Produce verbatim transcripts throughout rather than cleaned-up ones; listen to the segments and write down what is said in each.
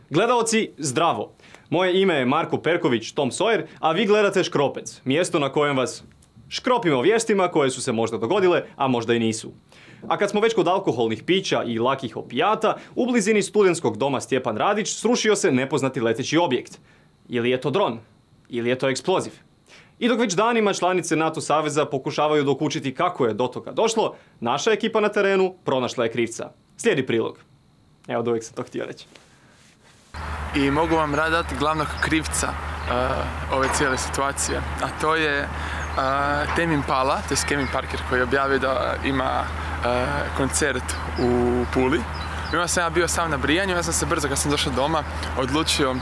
Gledaoci, zdravo! Moje ime je Marko Perković, Tom Sawyer, a vi gledate Škropec, mjesto na kojem vas škropimo vijestima koje su se možda dogodile, a možda i nisu. A kad smo već kod alkoholnih pića i lakih opijata, u blizini studentskog doma Stjepan Radić srušio se nepoznati leteći objekt. Ili je to dron? Ili je to eksploziv? I dok već danima članice NATO saveza pokušavaju dokučiti kako je do toga došlo, naša ekipa na terenu pronašla je krivca. Slijedi prilog. Evo, da uvijek sam to htio reći. I mogu vam raditi glavnog krivca uh, ove cijele situacije, a to je uh, Tame Impala, to je Kevin Parker koji je objavio da ima uh, koncert u Puli. I onda sam ja bio sam na brijanju, ja sam se brzo kad sam došao doma odlučio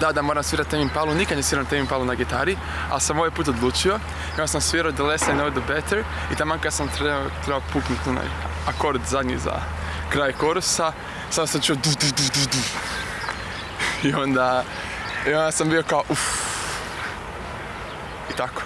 da, da moram svirati Tame Impalu, nikad ne sviram Tame Impalu na gitari, ali sam ovaj put odlučio i onda sam svirao The Less I Know The Better i taman kad sam trebao, trebao puknuti onaj akord zadnji za kraj korusa, sam sam čuo du, du, du, du, du. I onda, i onda sam bio kao uff. I tako.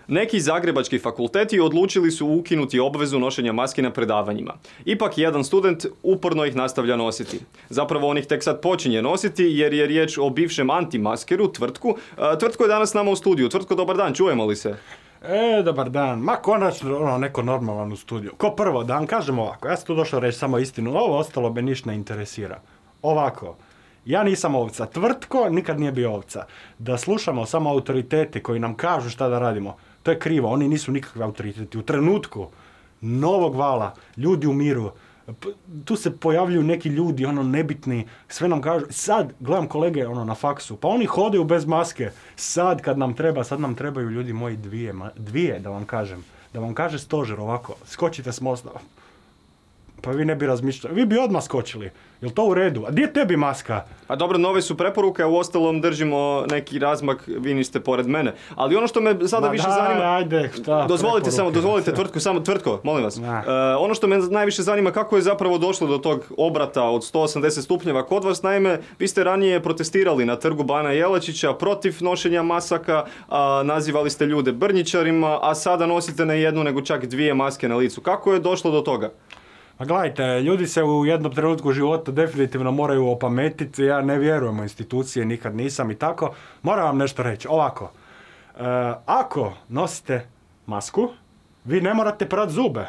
Neki zagrebački fakulteti odlučili su ukinuti obvezu nošenja maski na predavanjima. Ipak jedan student uporno ih nastavlja nositi. Zapravo on ih tek sad počinje nositi jer je riječ o bivšem antimaskeru, Tvrtku. Tvrtko je danas s nama u studiju. Tvrtko, dobar dan, čujemo li se? E, dobar dan. Ma konačno ono, neko normalan u studiju. Ko prvo, da vam kažem ovako, ja sam tu došao reći samo istinu, ovo ostalo me ništa ne interesira. Ovako, ja nisam ovca. Tvrtko nikad nije bio ovca. Da slušamo samo autoritete koji nam kažu šta da radimo, to je krivo. Oni nisu nikakvi autoriteti. U trenutku novog vala, ljudi umiru, tu se pojavljuju neki ljudi, ono, nebitni, sve nam kažu. Sad, gledam kolege, ono, na faksu, pa oni hodaju bez maske. Sad, kad nam treba, sad nam trebaju, ljudi moji, dvije, dvije, da vam kažem. Da vam kaže stožer ovako, skočite s mosta. Pa vi ne bi razmišljali, vi bi odmah skočili. Jel to u redu? A gdje je tebi maska? Pa dobro, nove su preporuke, a u ostalom držimo neki razmak, vi niste pored mene. Ali ono što me sada Ma više da, zanima... Ajde, šta, dozvolite samo, dozvolite Tvrtku, samo Tvrtko, molim vas. Uh, ono što me najviše zanima, kako je zapravo došlo do tog obrata od sto osamdeset stupnjeva kod vas. Naime, vi ste ranije protestirali na trgu Bana Jelačića protiv nošenja masaka, a, nazivali ste ljude brnjičarima, a sada nosite ne jednu, nego čak dvije maske na licu. Kako je došlo do toga? A gledajte, ljudi se u jednom trenutku života definitivno moraju opametiti, ja ne vjerujem u institucije, nikad nisam i tako. Moram vam nešto reći, ovako, e, ako nosite masku, vi ne morate prat zube.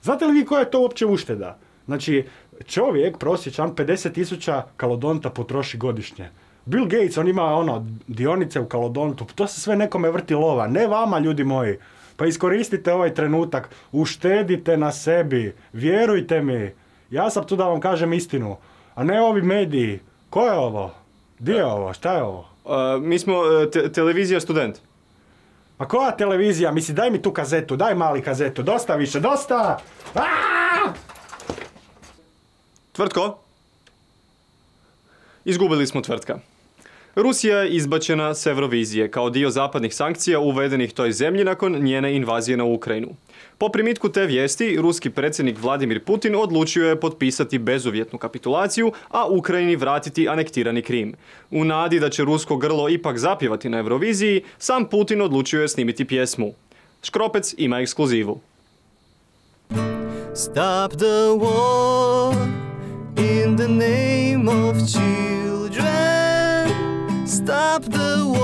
Znate li vi koja je to uopće ušteda? Znači, čovjek prosječan pedeset tisuća kalodonta potroši godišnje. Bill Gates, on ima ono, dionice u kalodontu, to se sve nekome vrti lova, ne vama, ljudi moji. Pa iskoristite ovaj trenutak, uštedite na sebi, vjerujte mi. Ja sam tu da vam kažem istinu, a ne ovi mediji. Ko je ovo? Gdje je ovo? Šta je ovo? Uh, mi smo uh, te- televizija Student. A koja televizija? Misli, daj mi tu kazetu, daj mali kazetu, dosta više, dosta! Aaaa! Tvrtko? Izgubili smo Tvrtka. Rusija je izbačena s Eurovizije kao dio zapadnih sankcija uvedenih toj zemlji nakon njene invazije na Ukrajinu. Po primitku te vijesti, ruski predsjednik Vladimir Putin odlučio je potpisati bezuvjetnu kapitulaciju, a Ukrajini vratiti anektirani Krim. U nadi da će rusko grlo ipak zapjevati na Euroviziji, sam Putin odlučio je snimiti pjesmu. Škropec ima ekskluzivu. Stop the war in the name of children. Stop the war.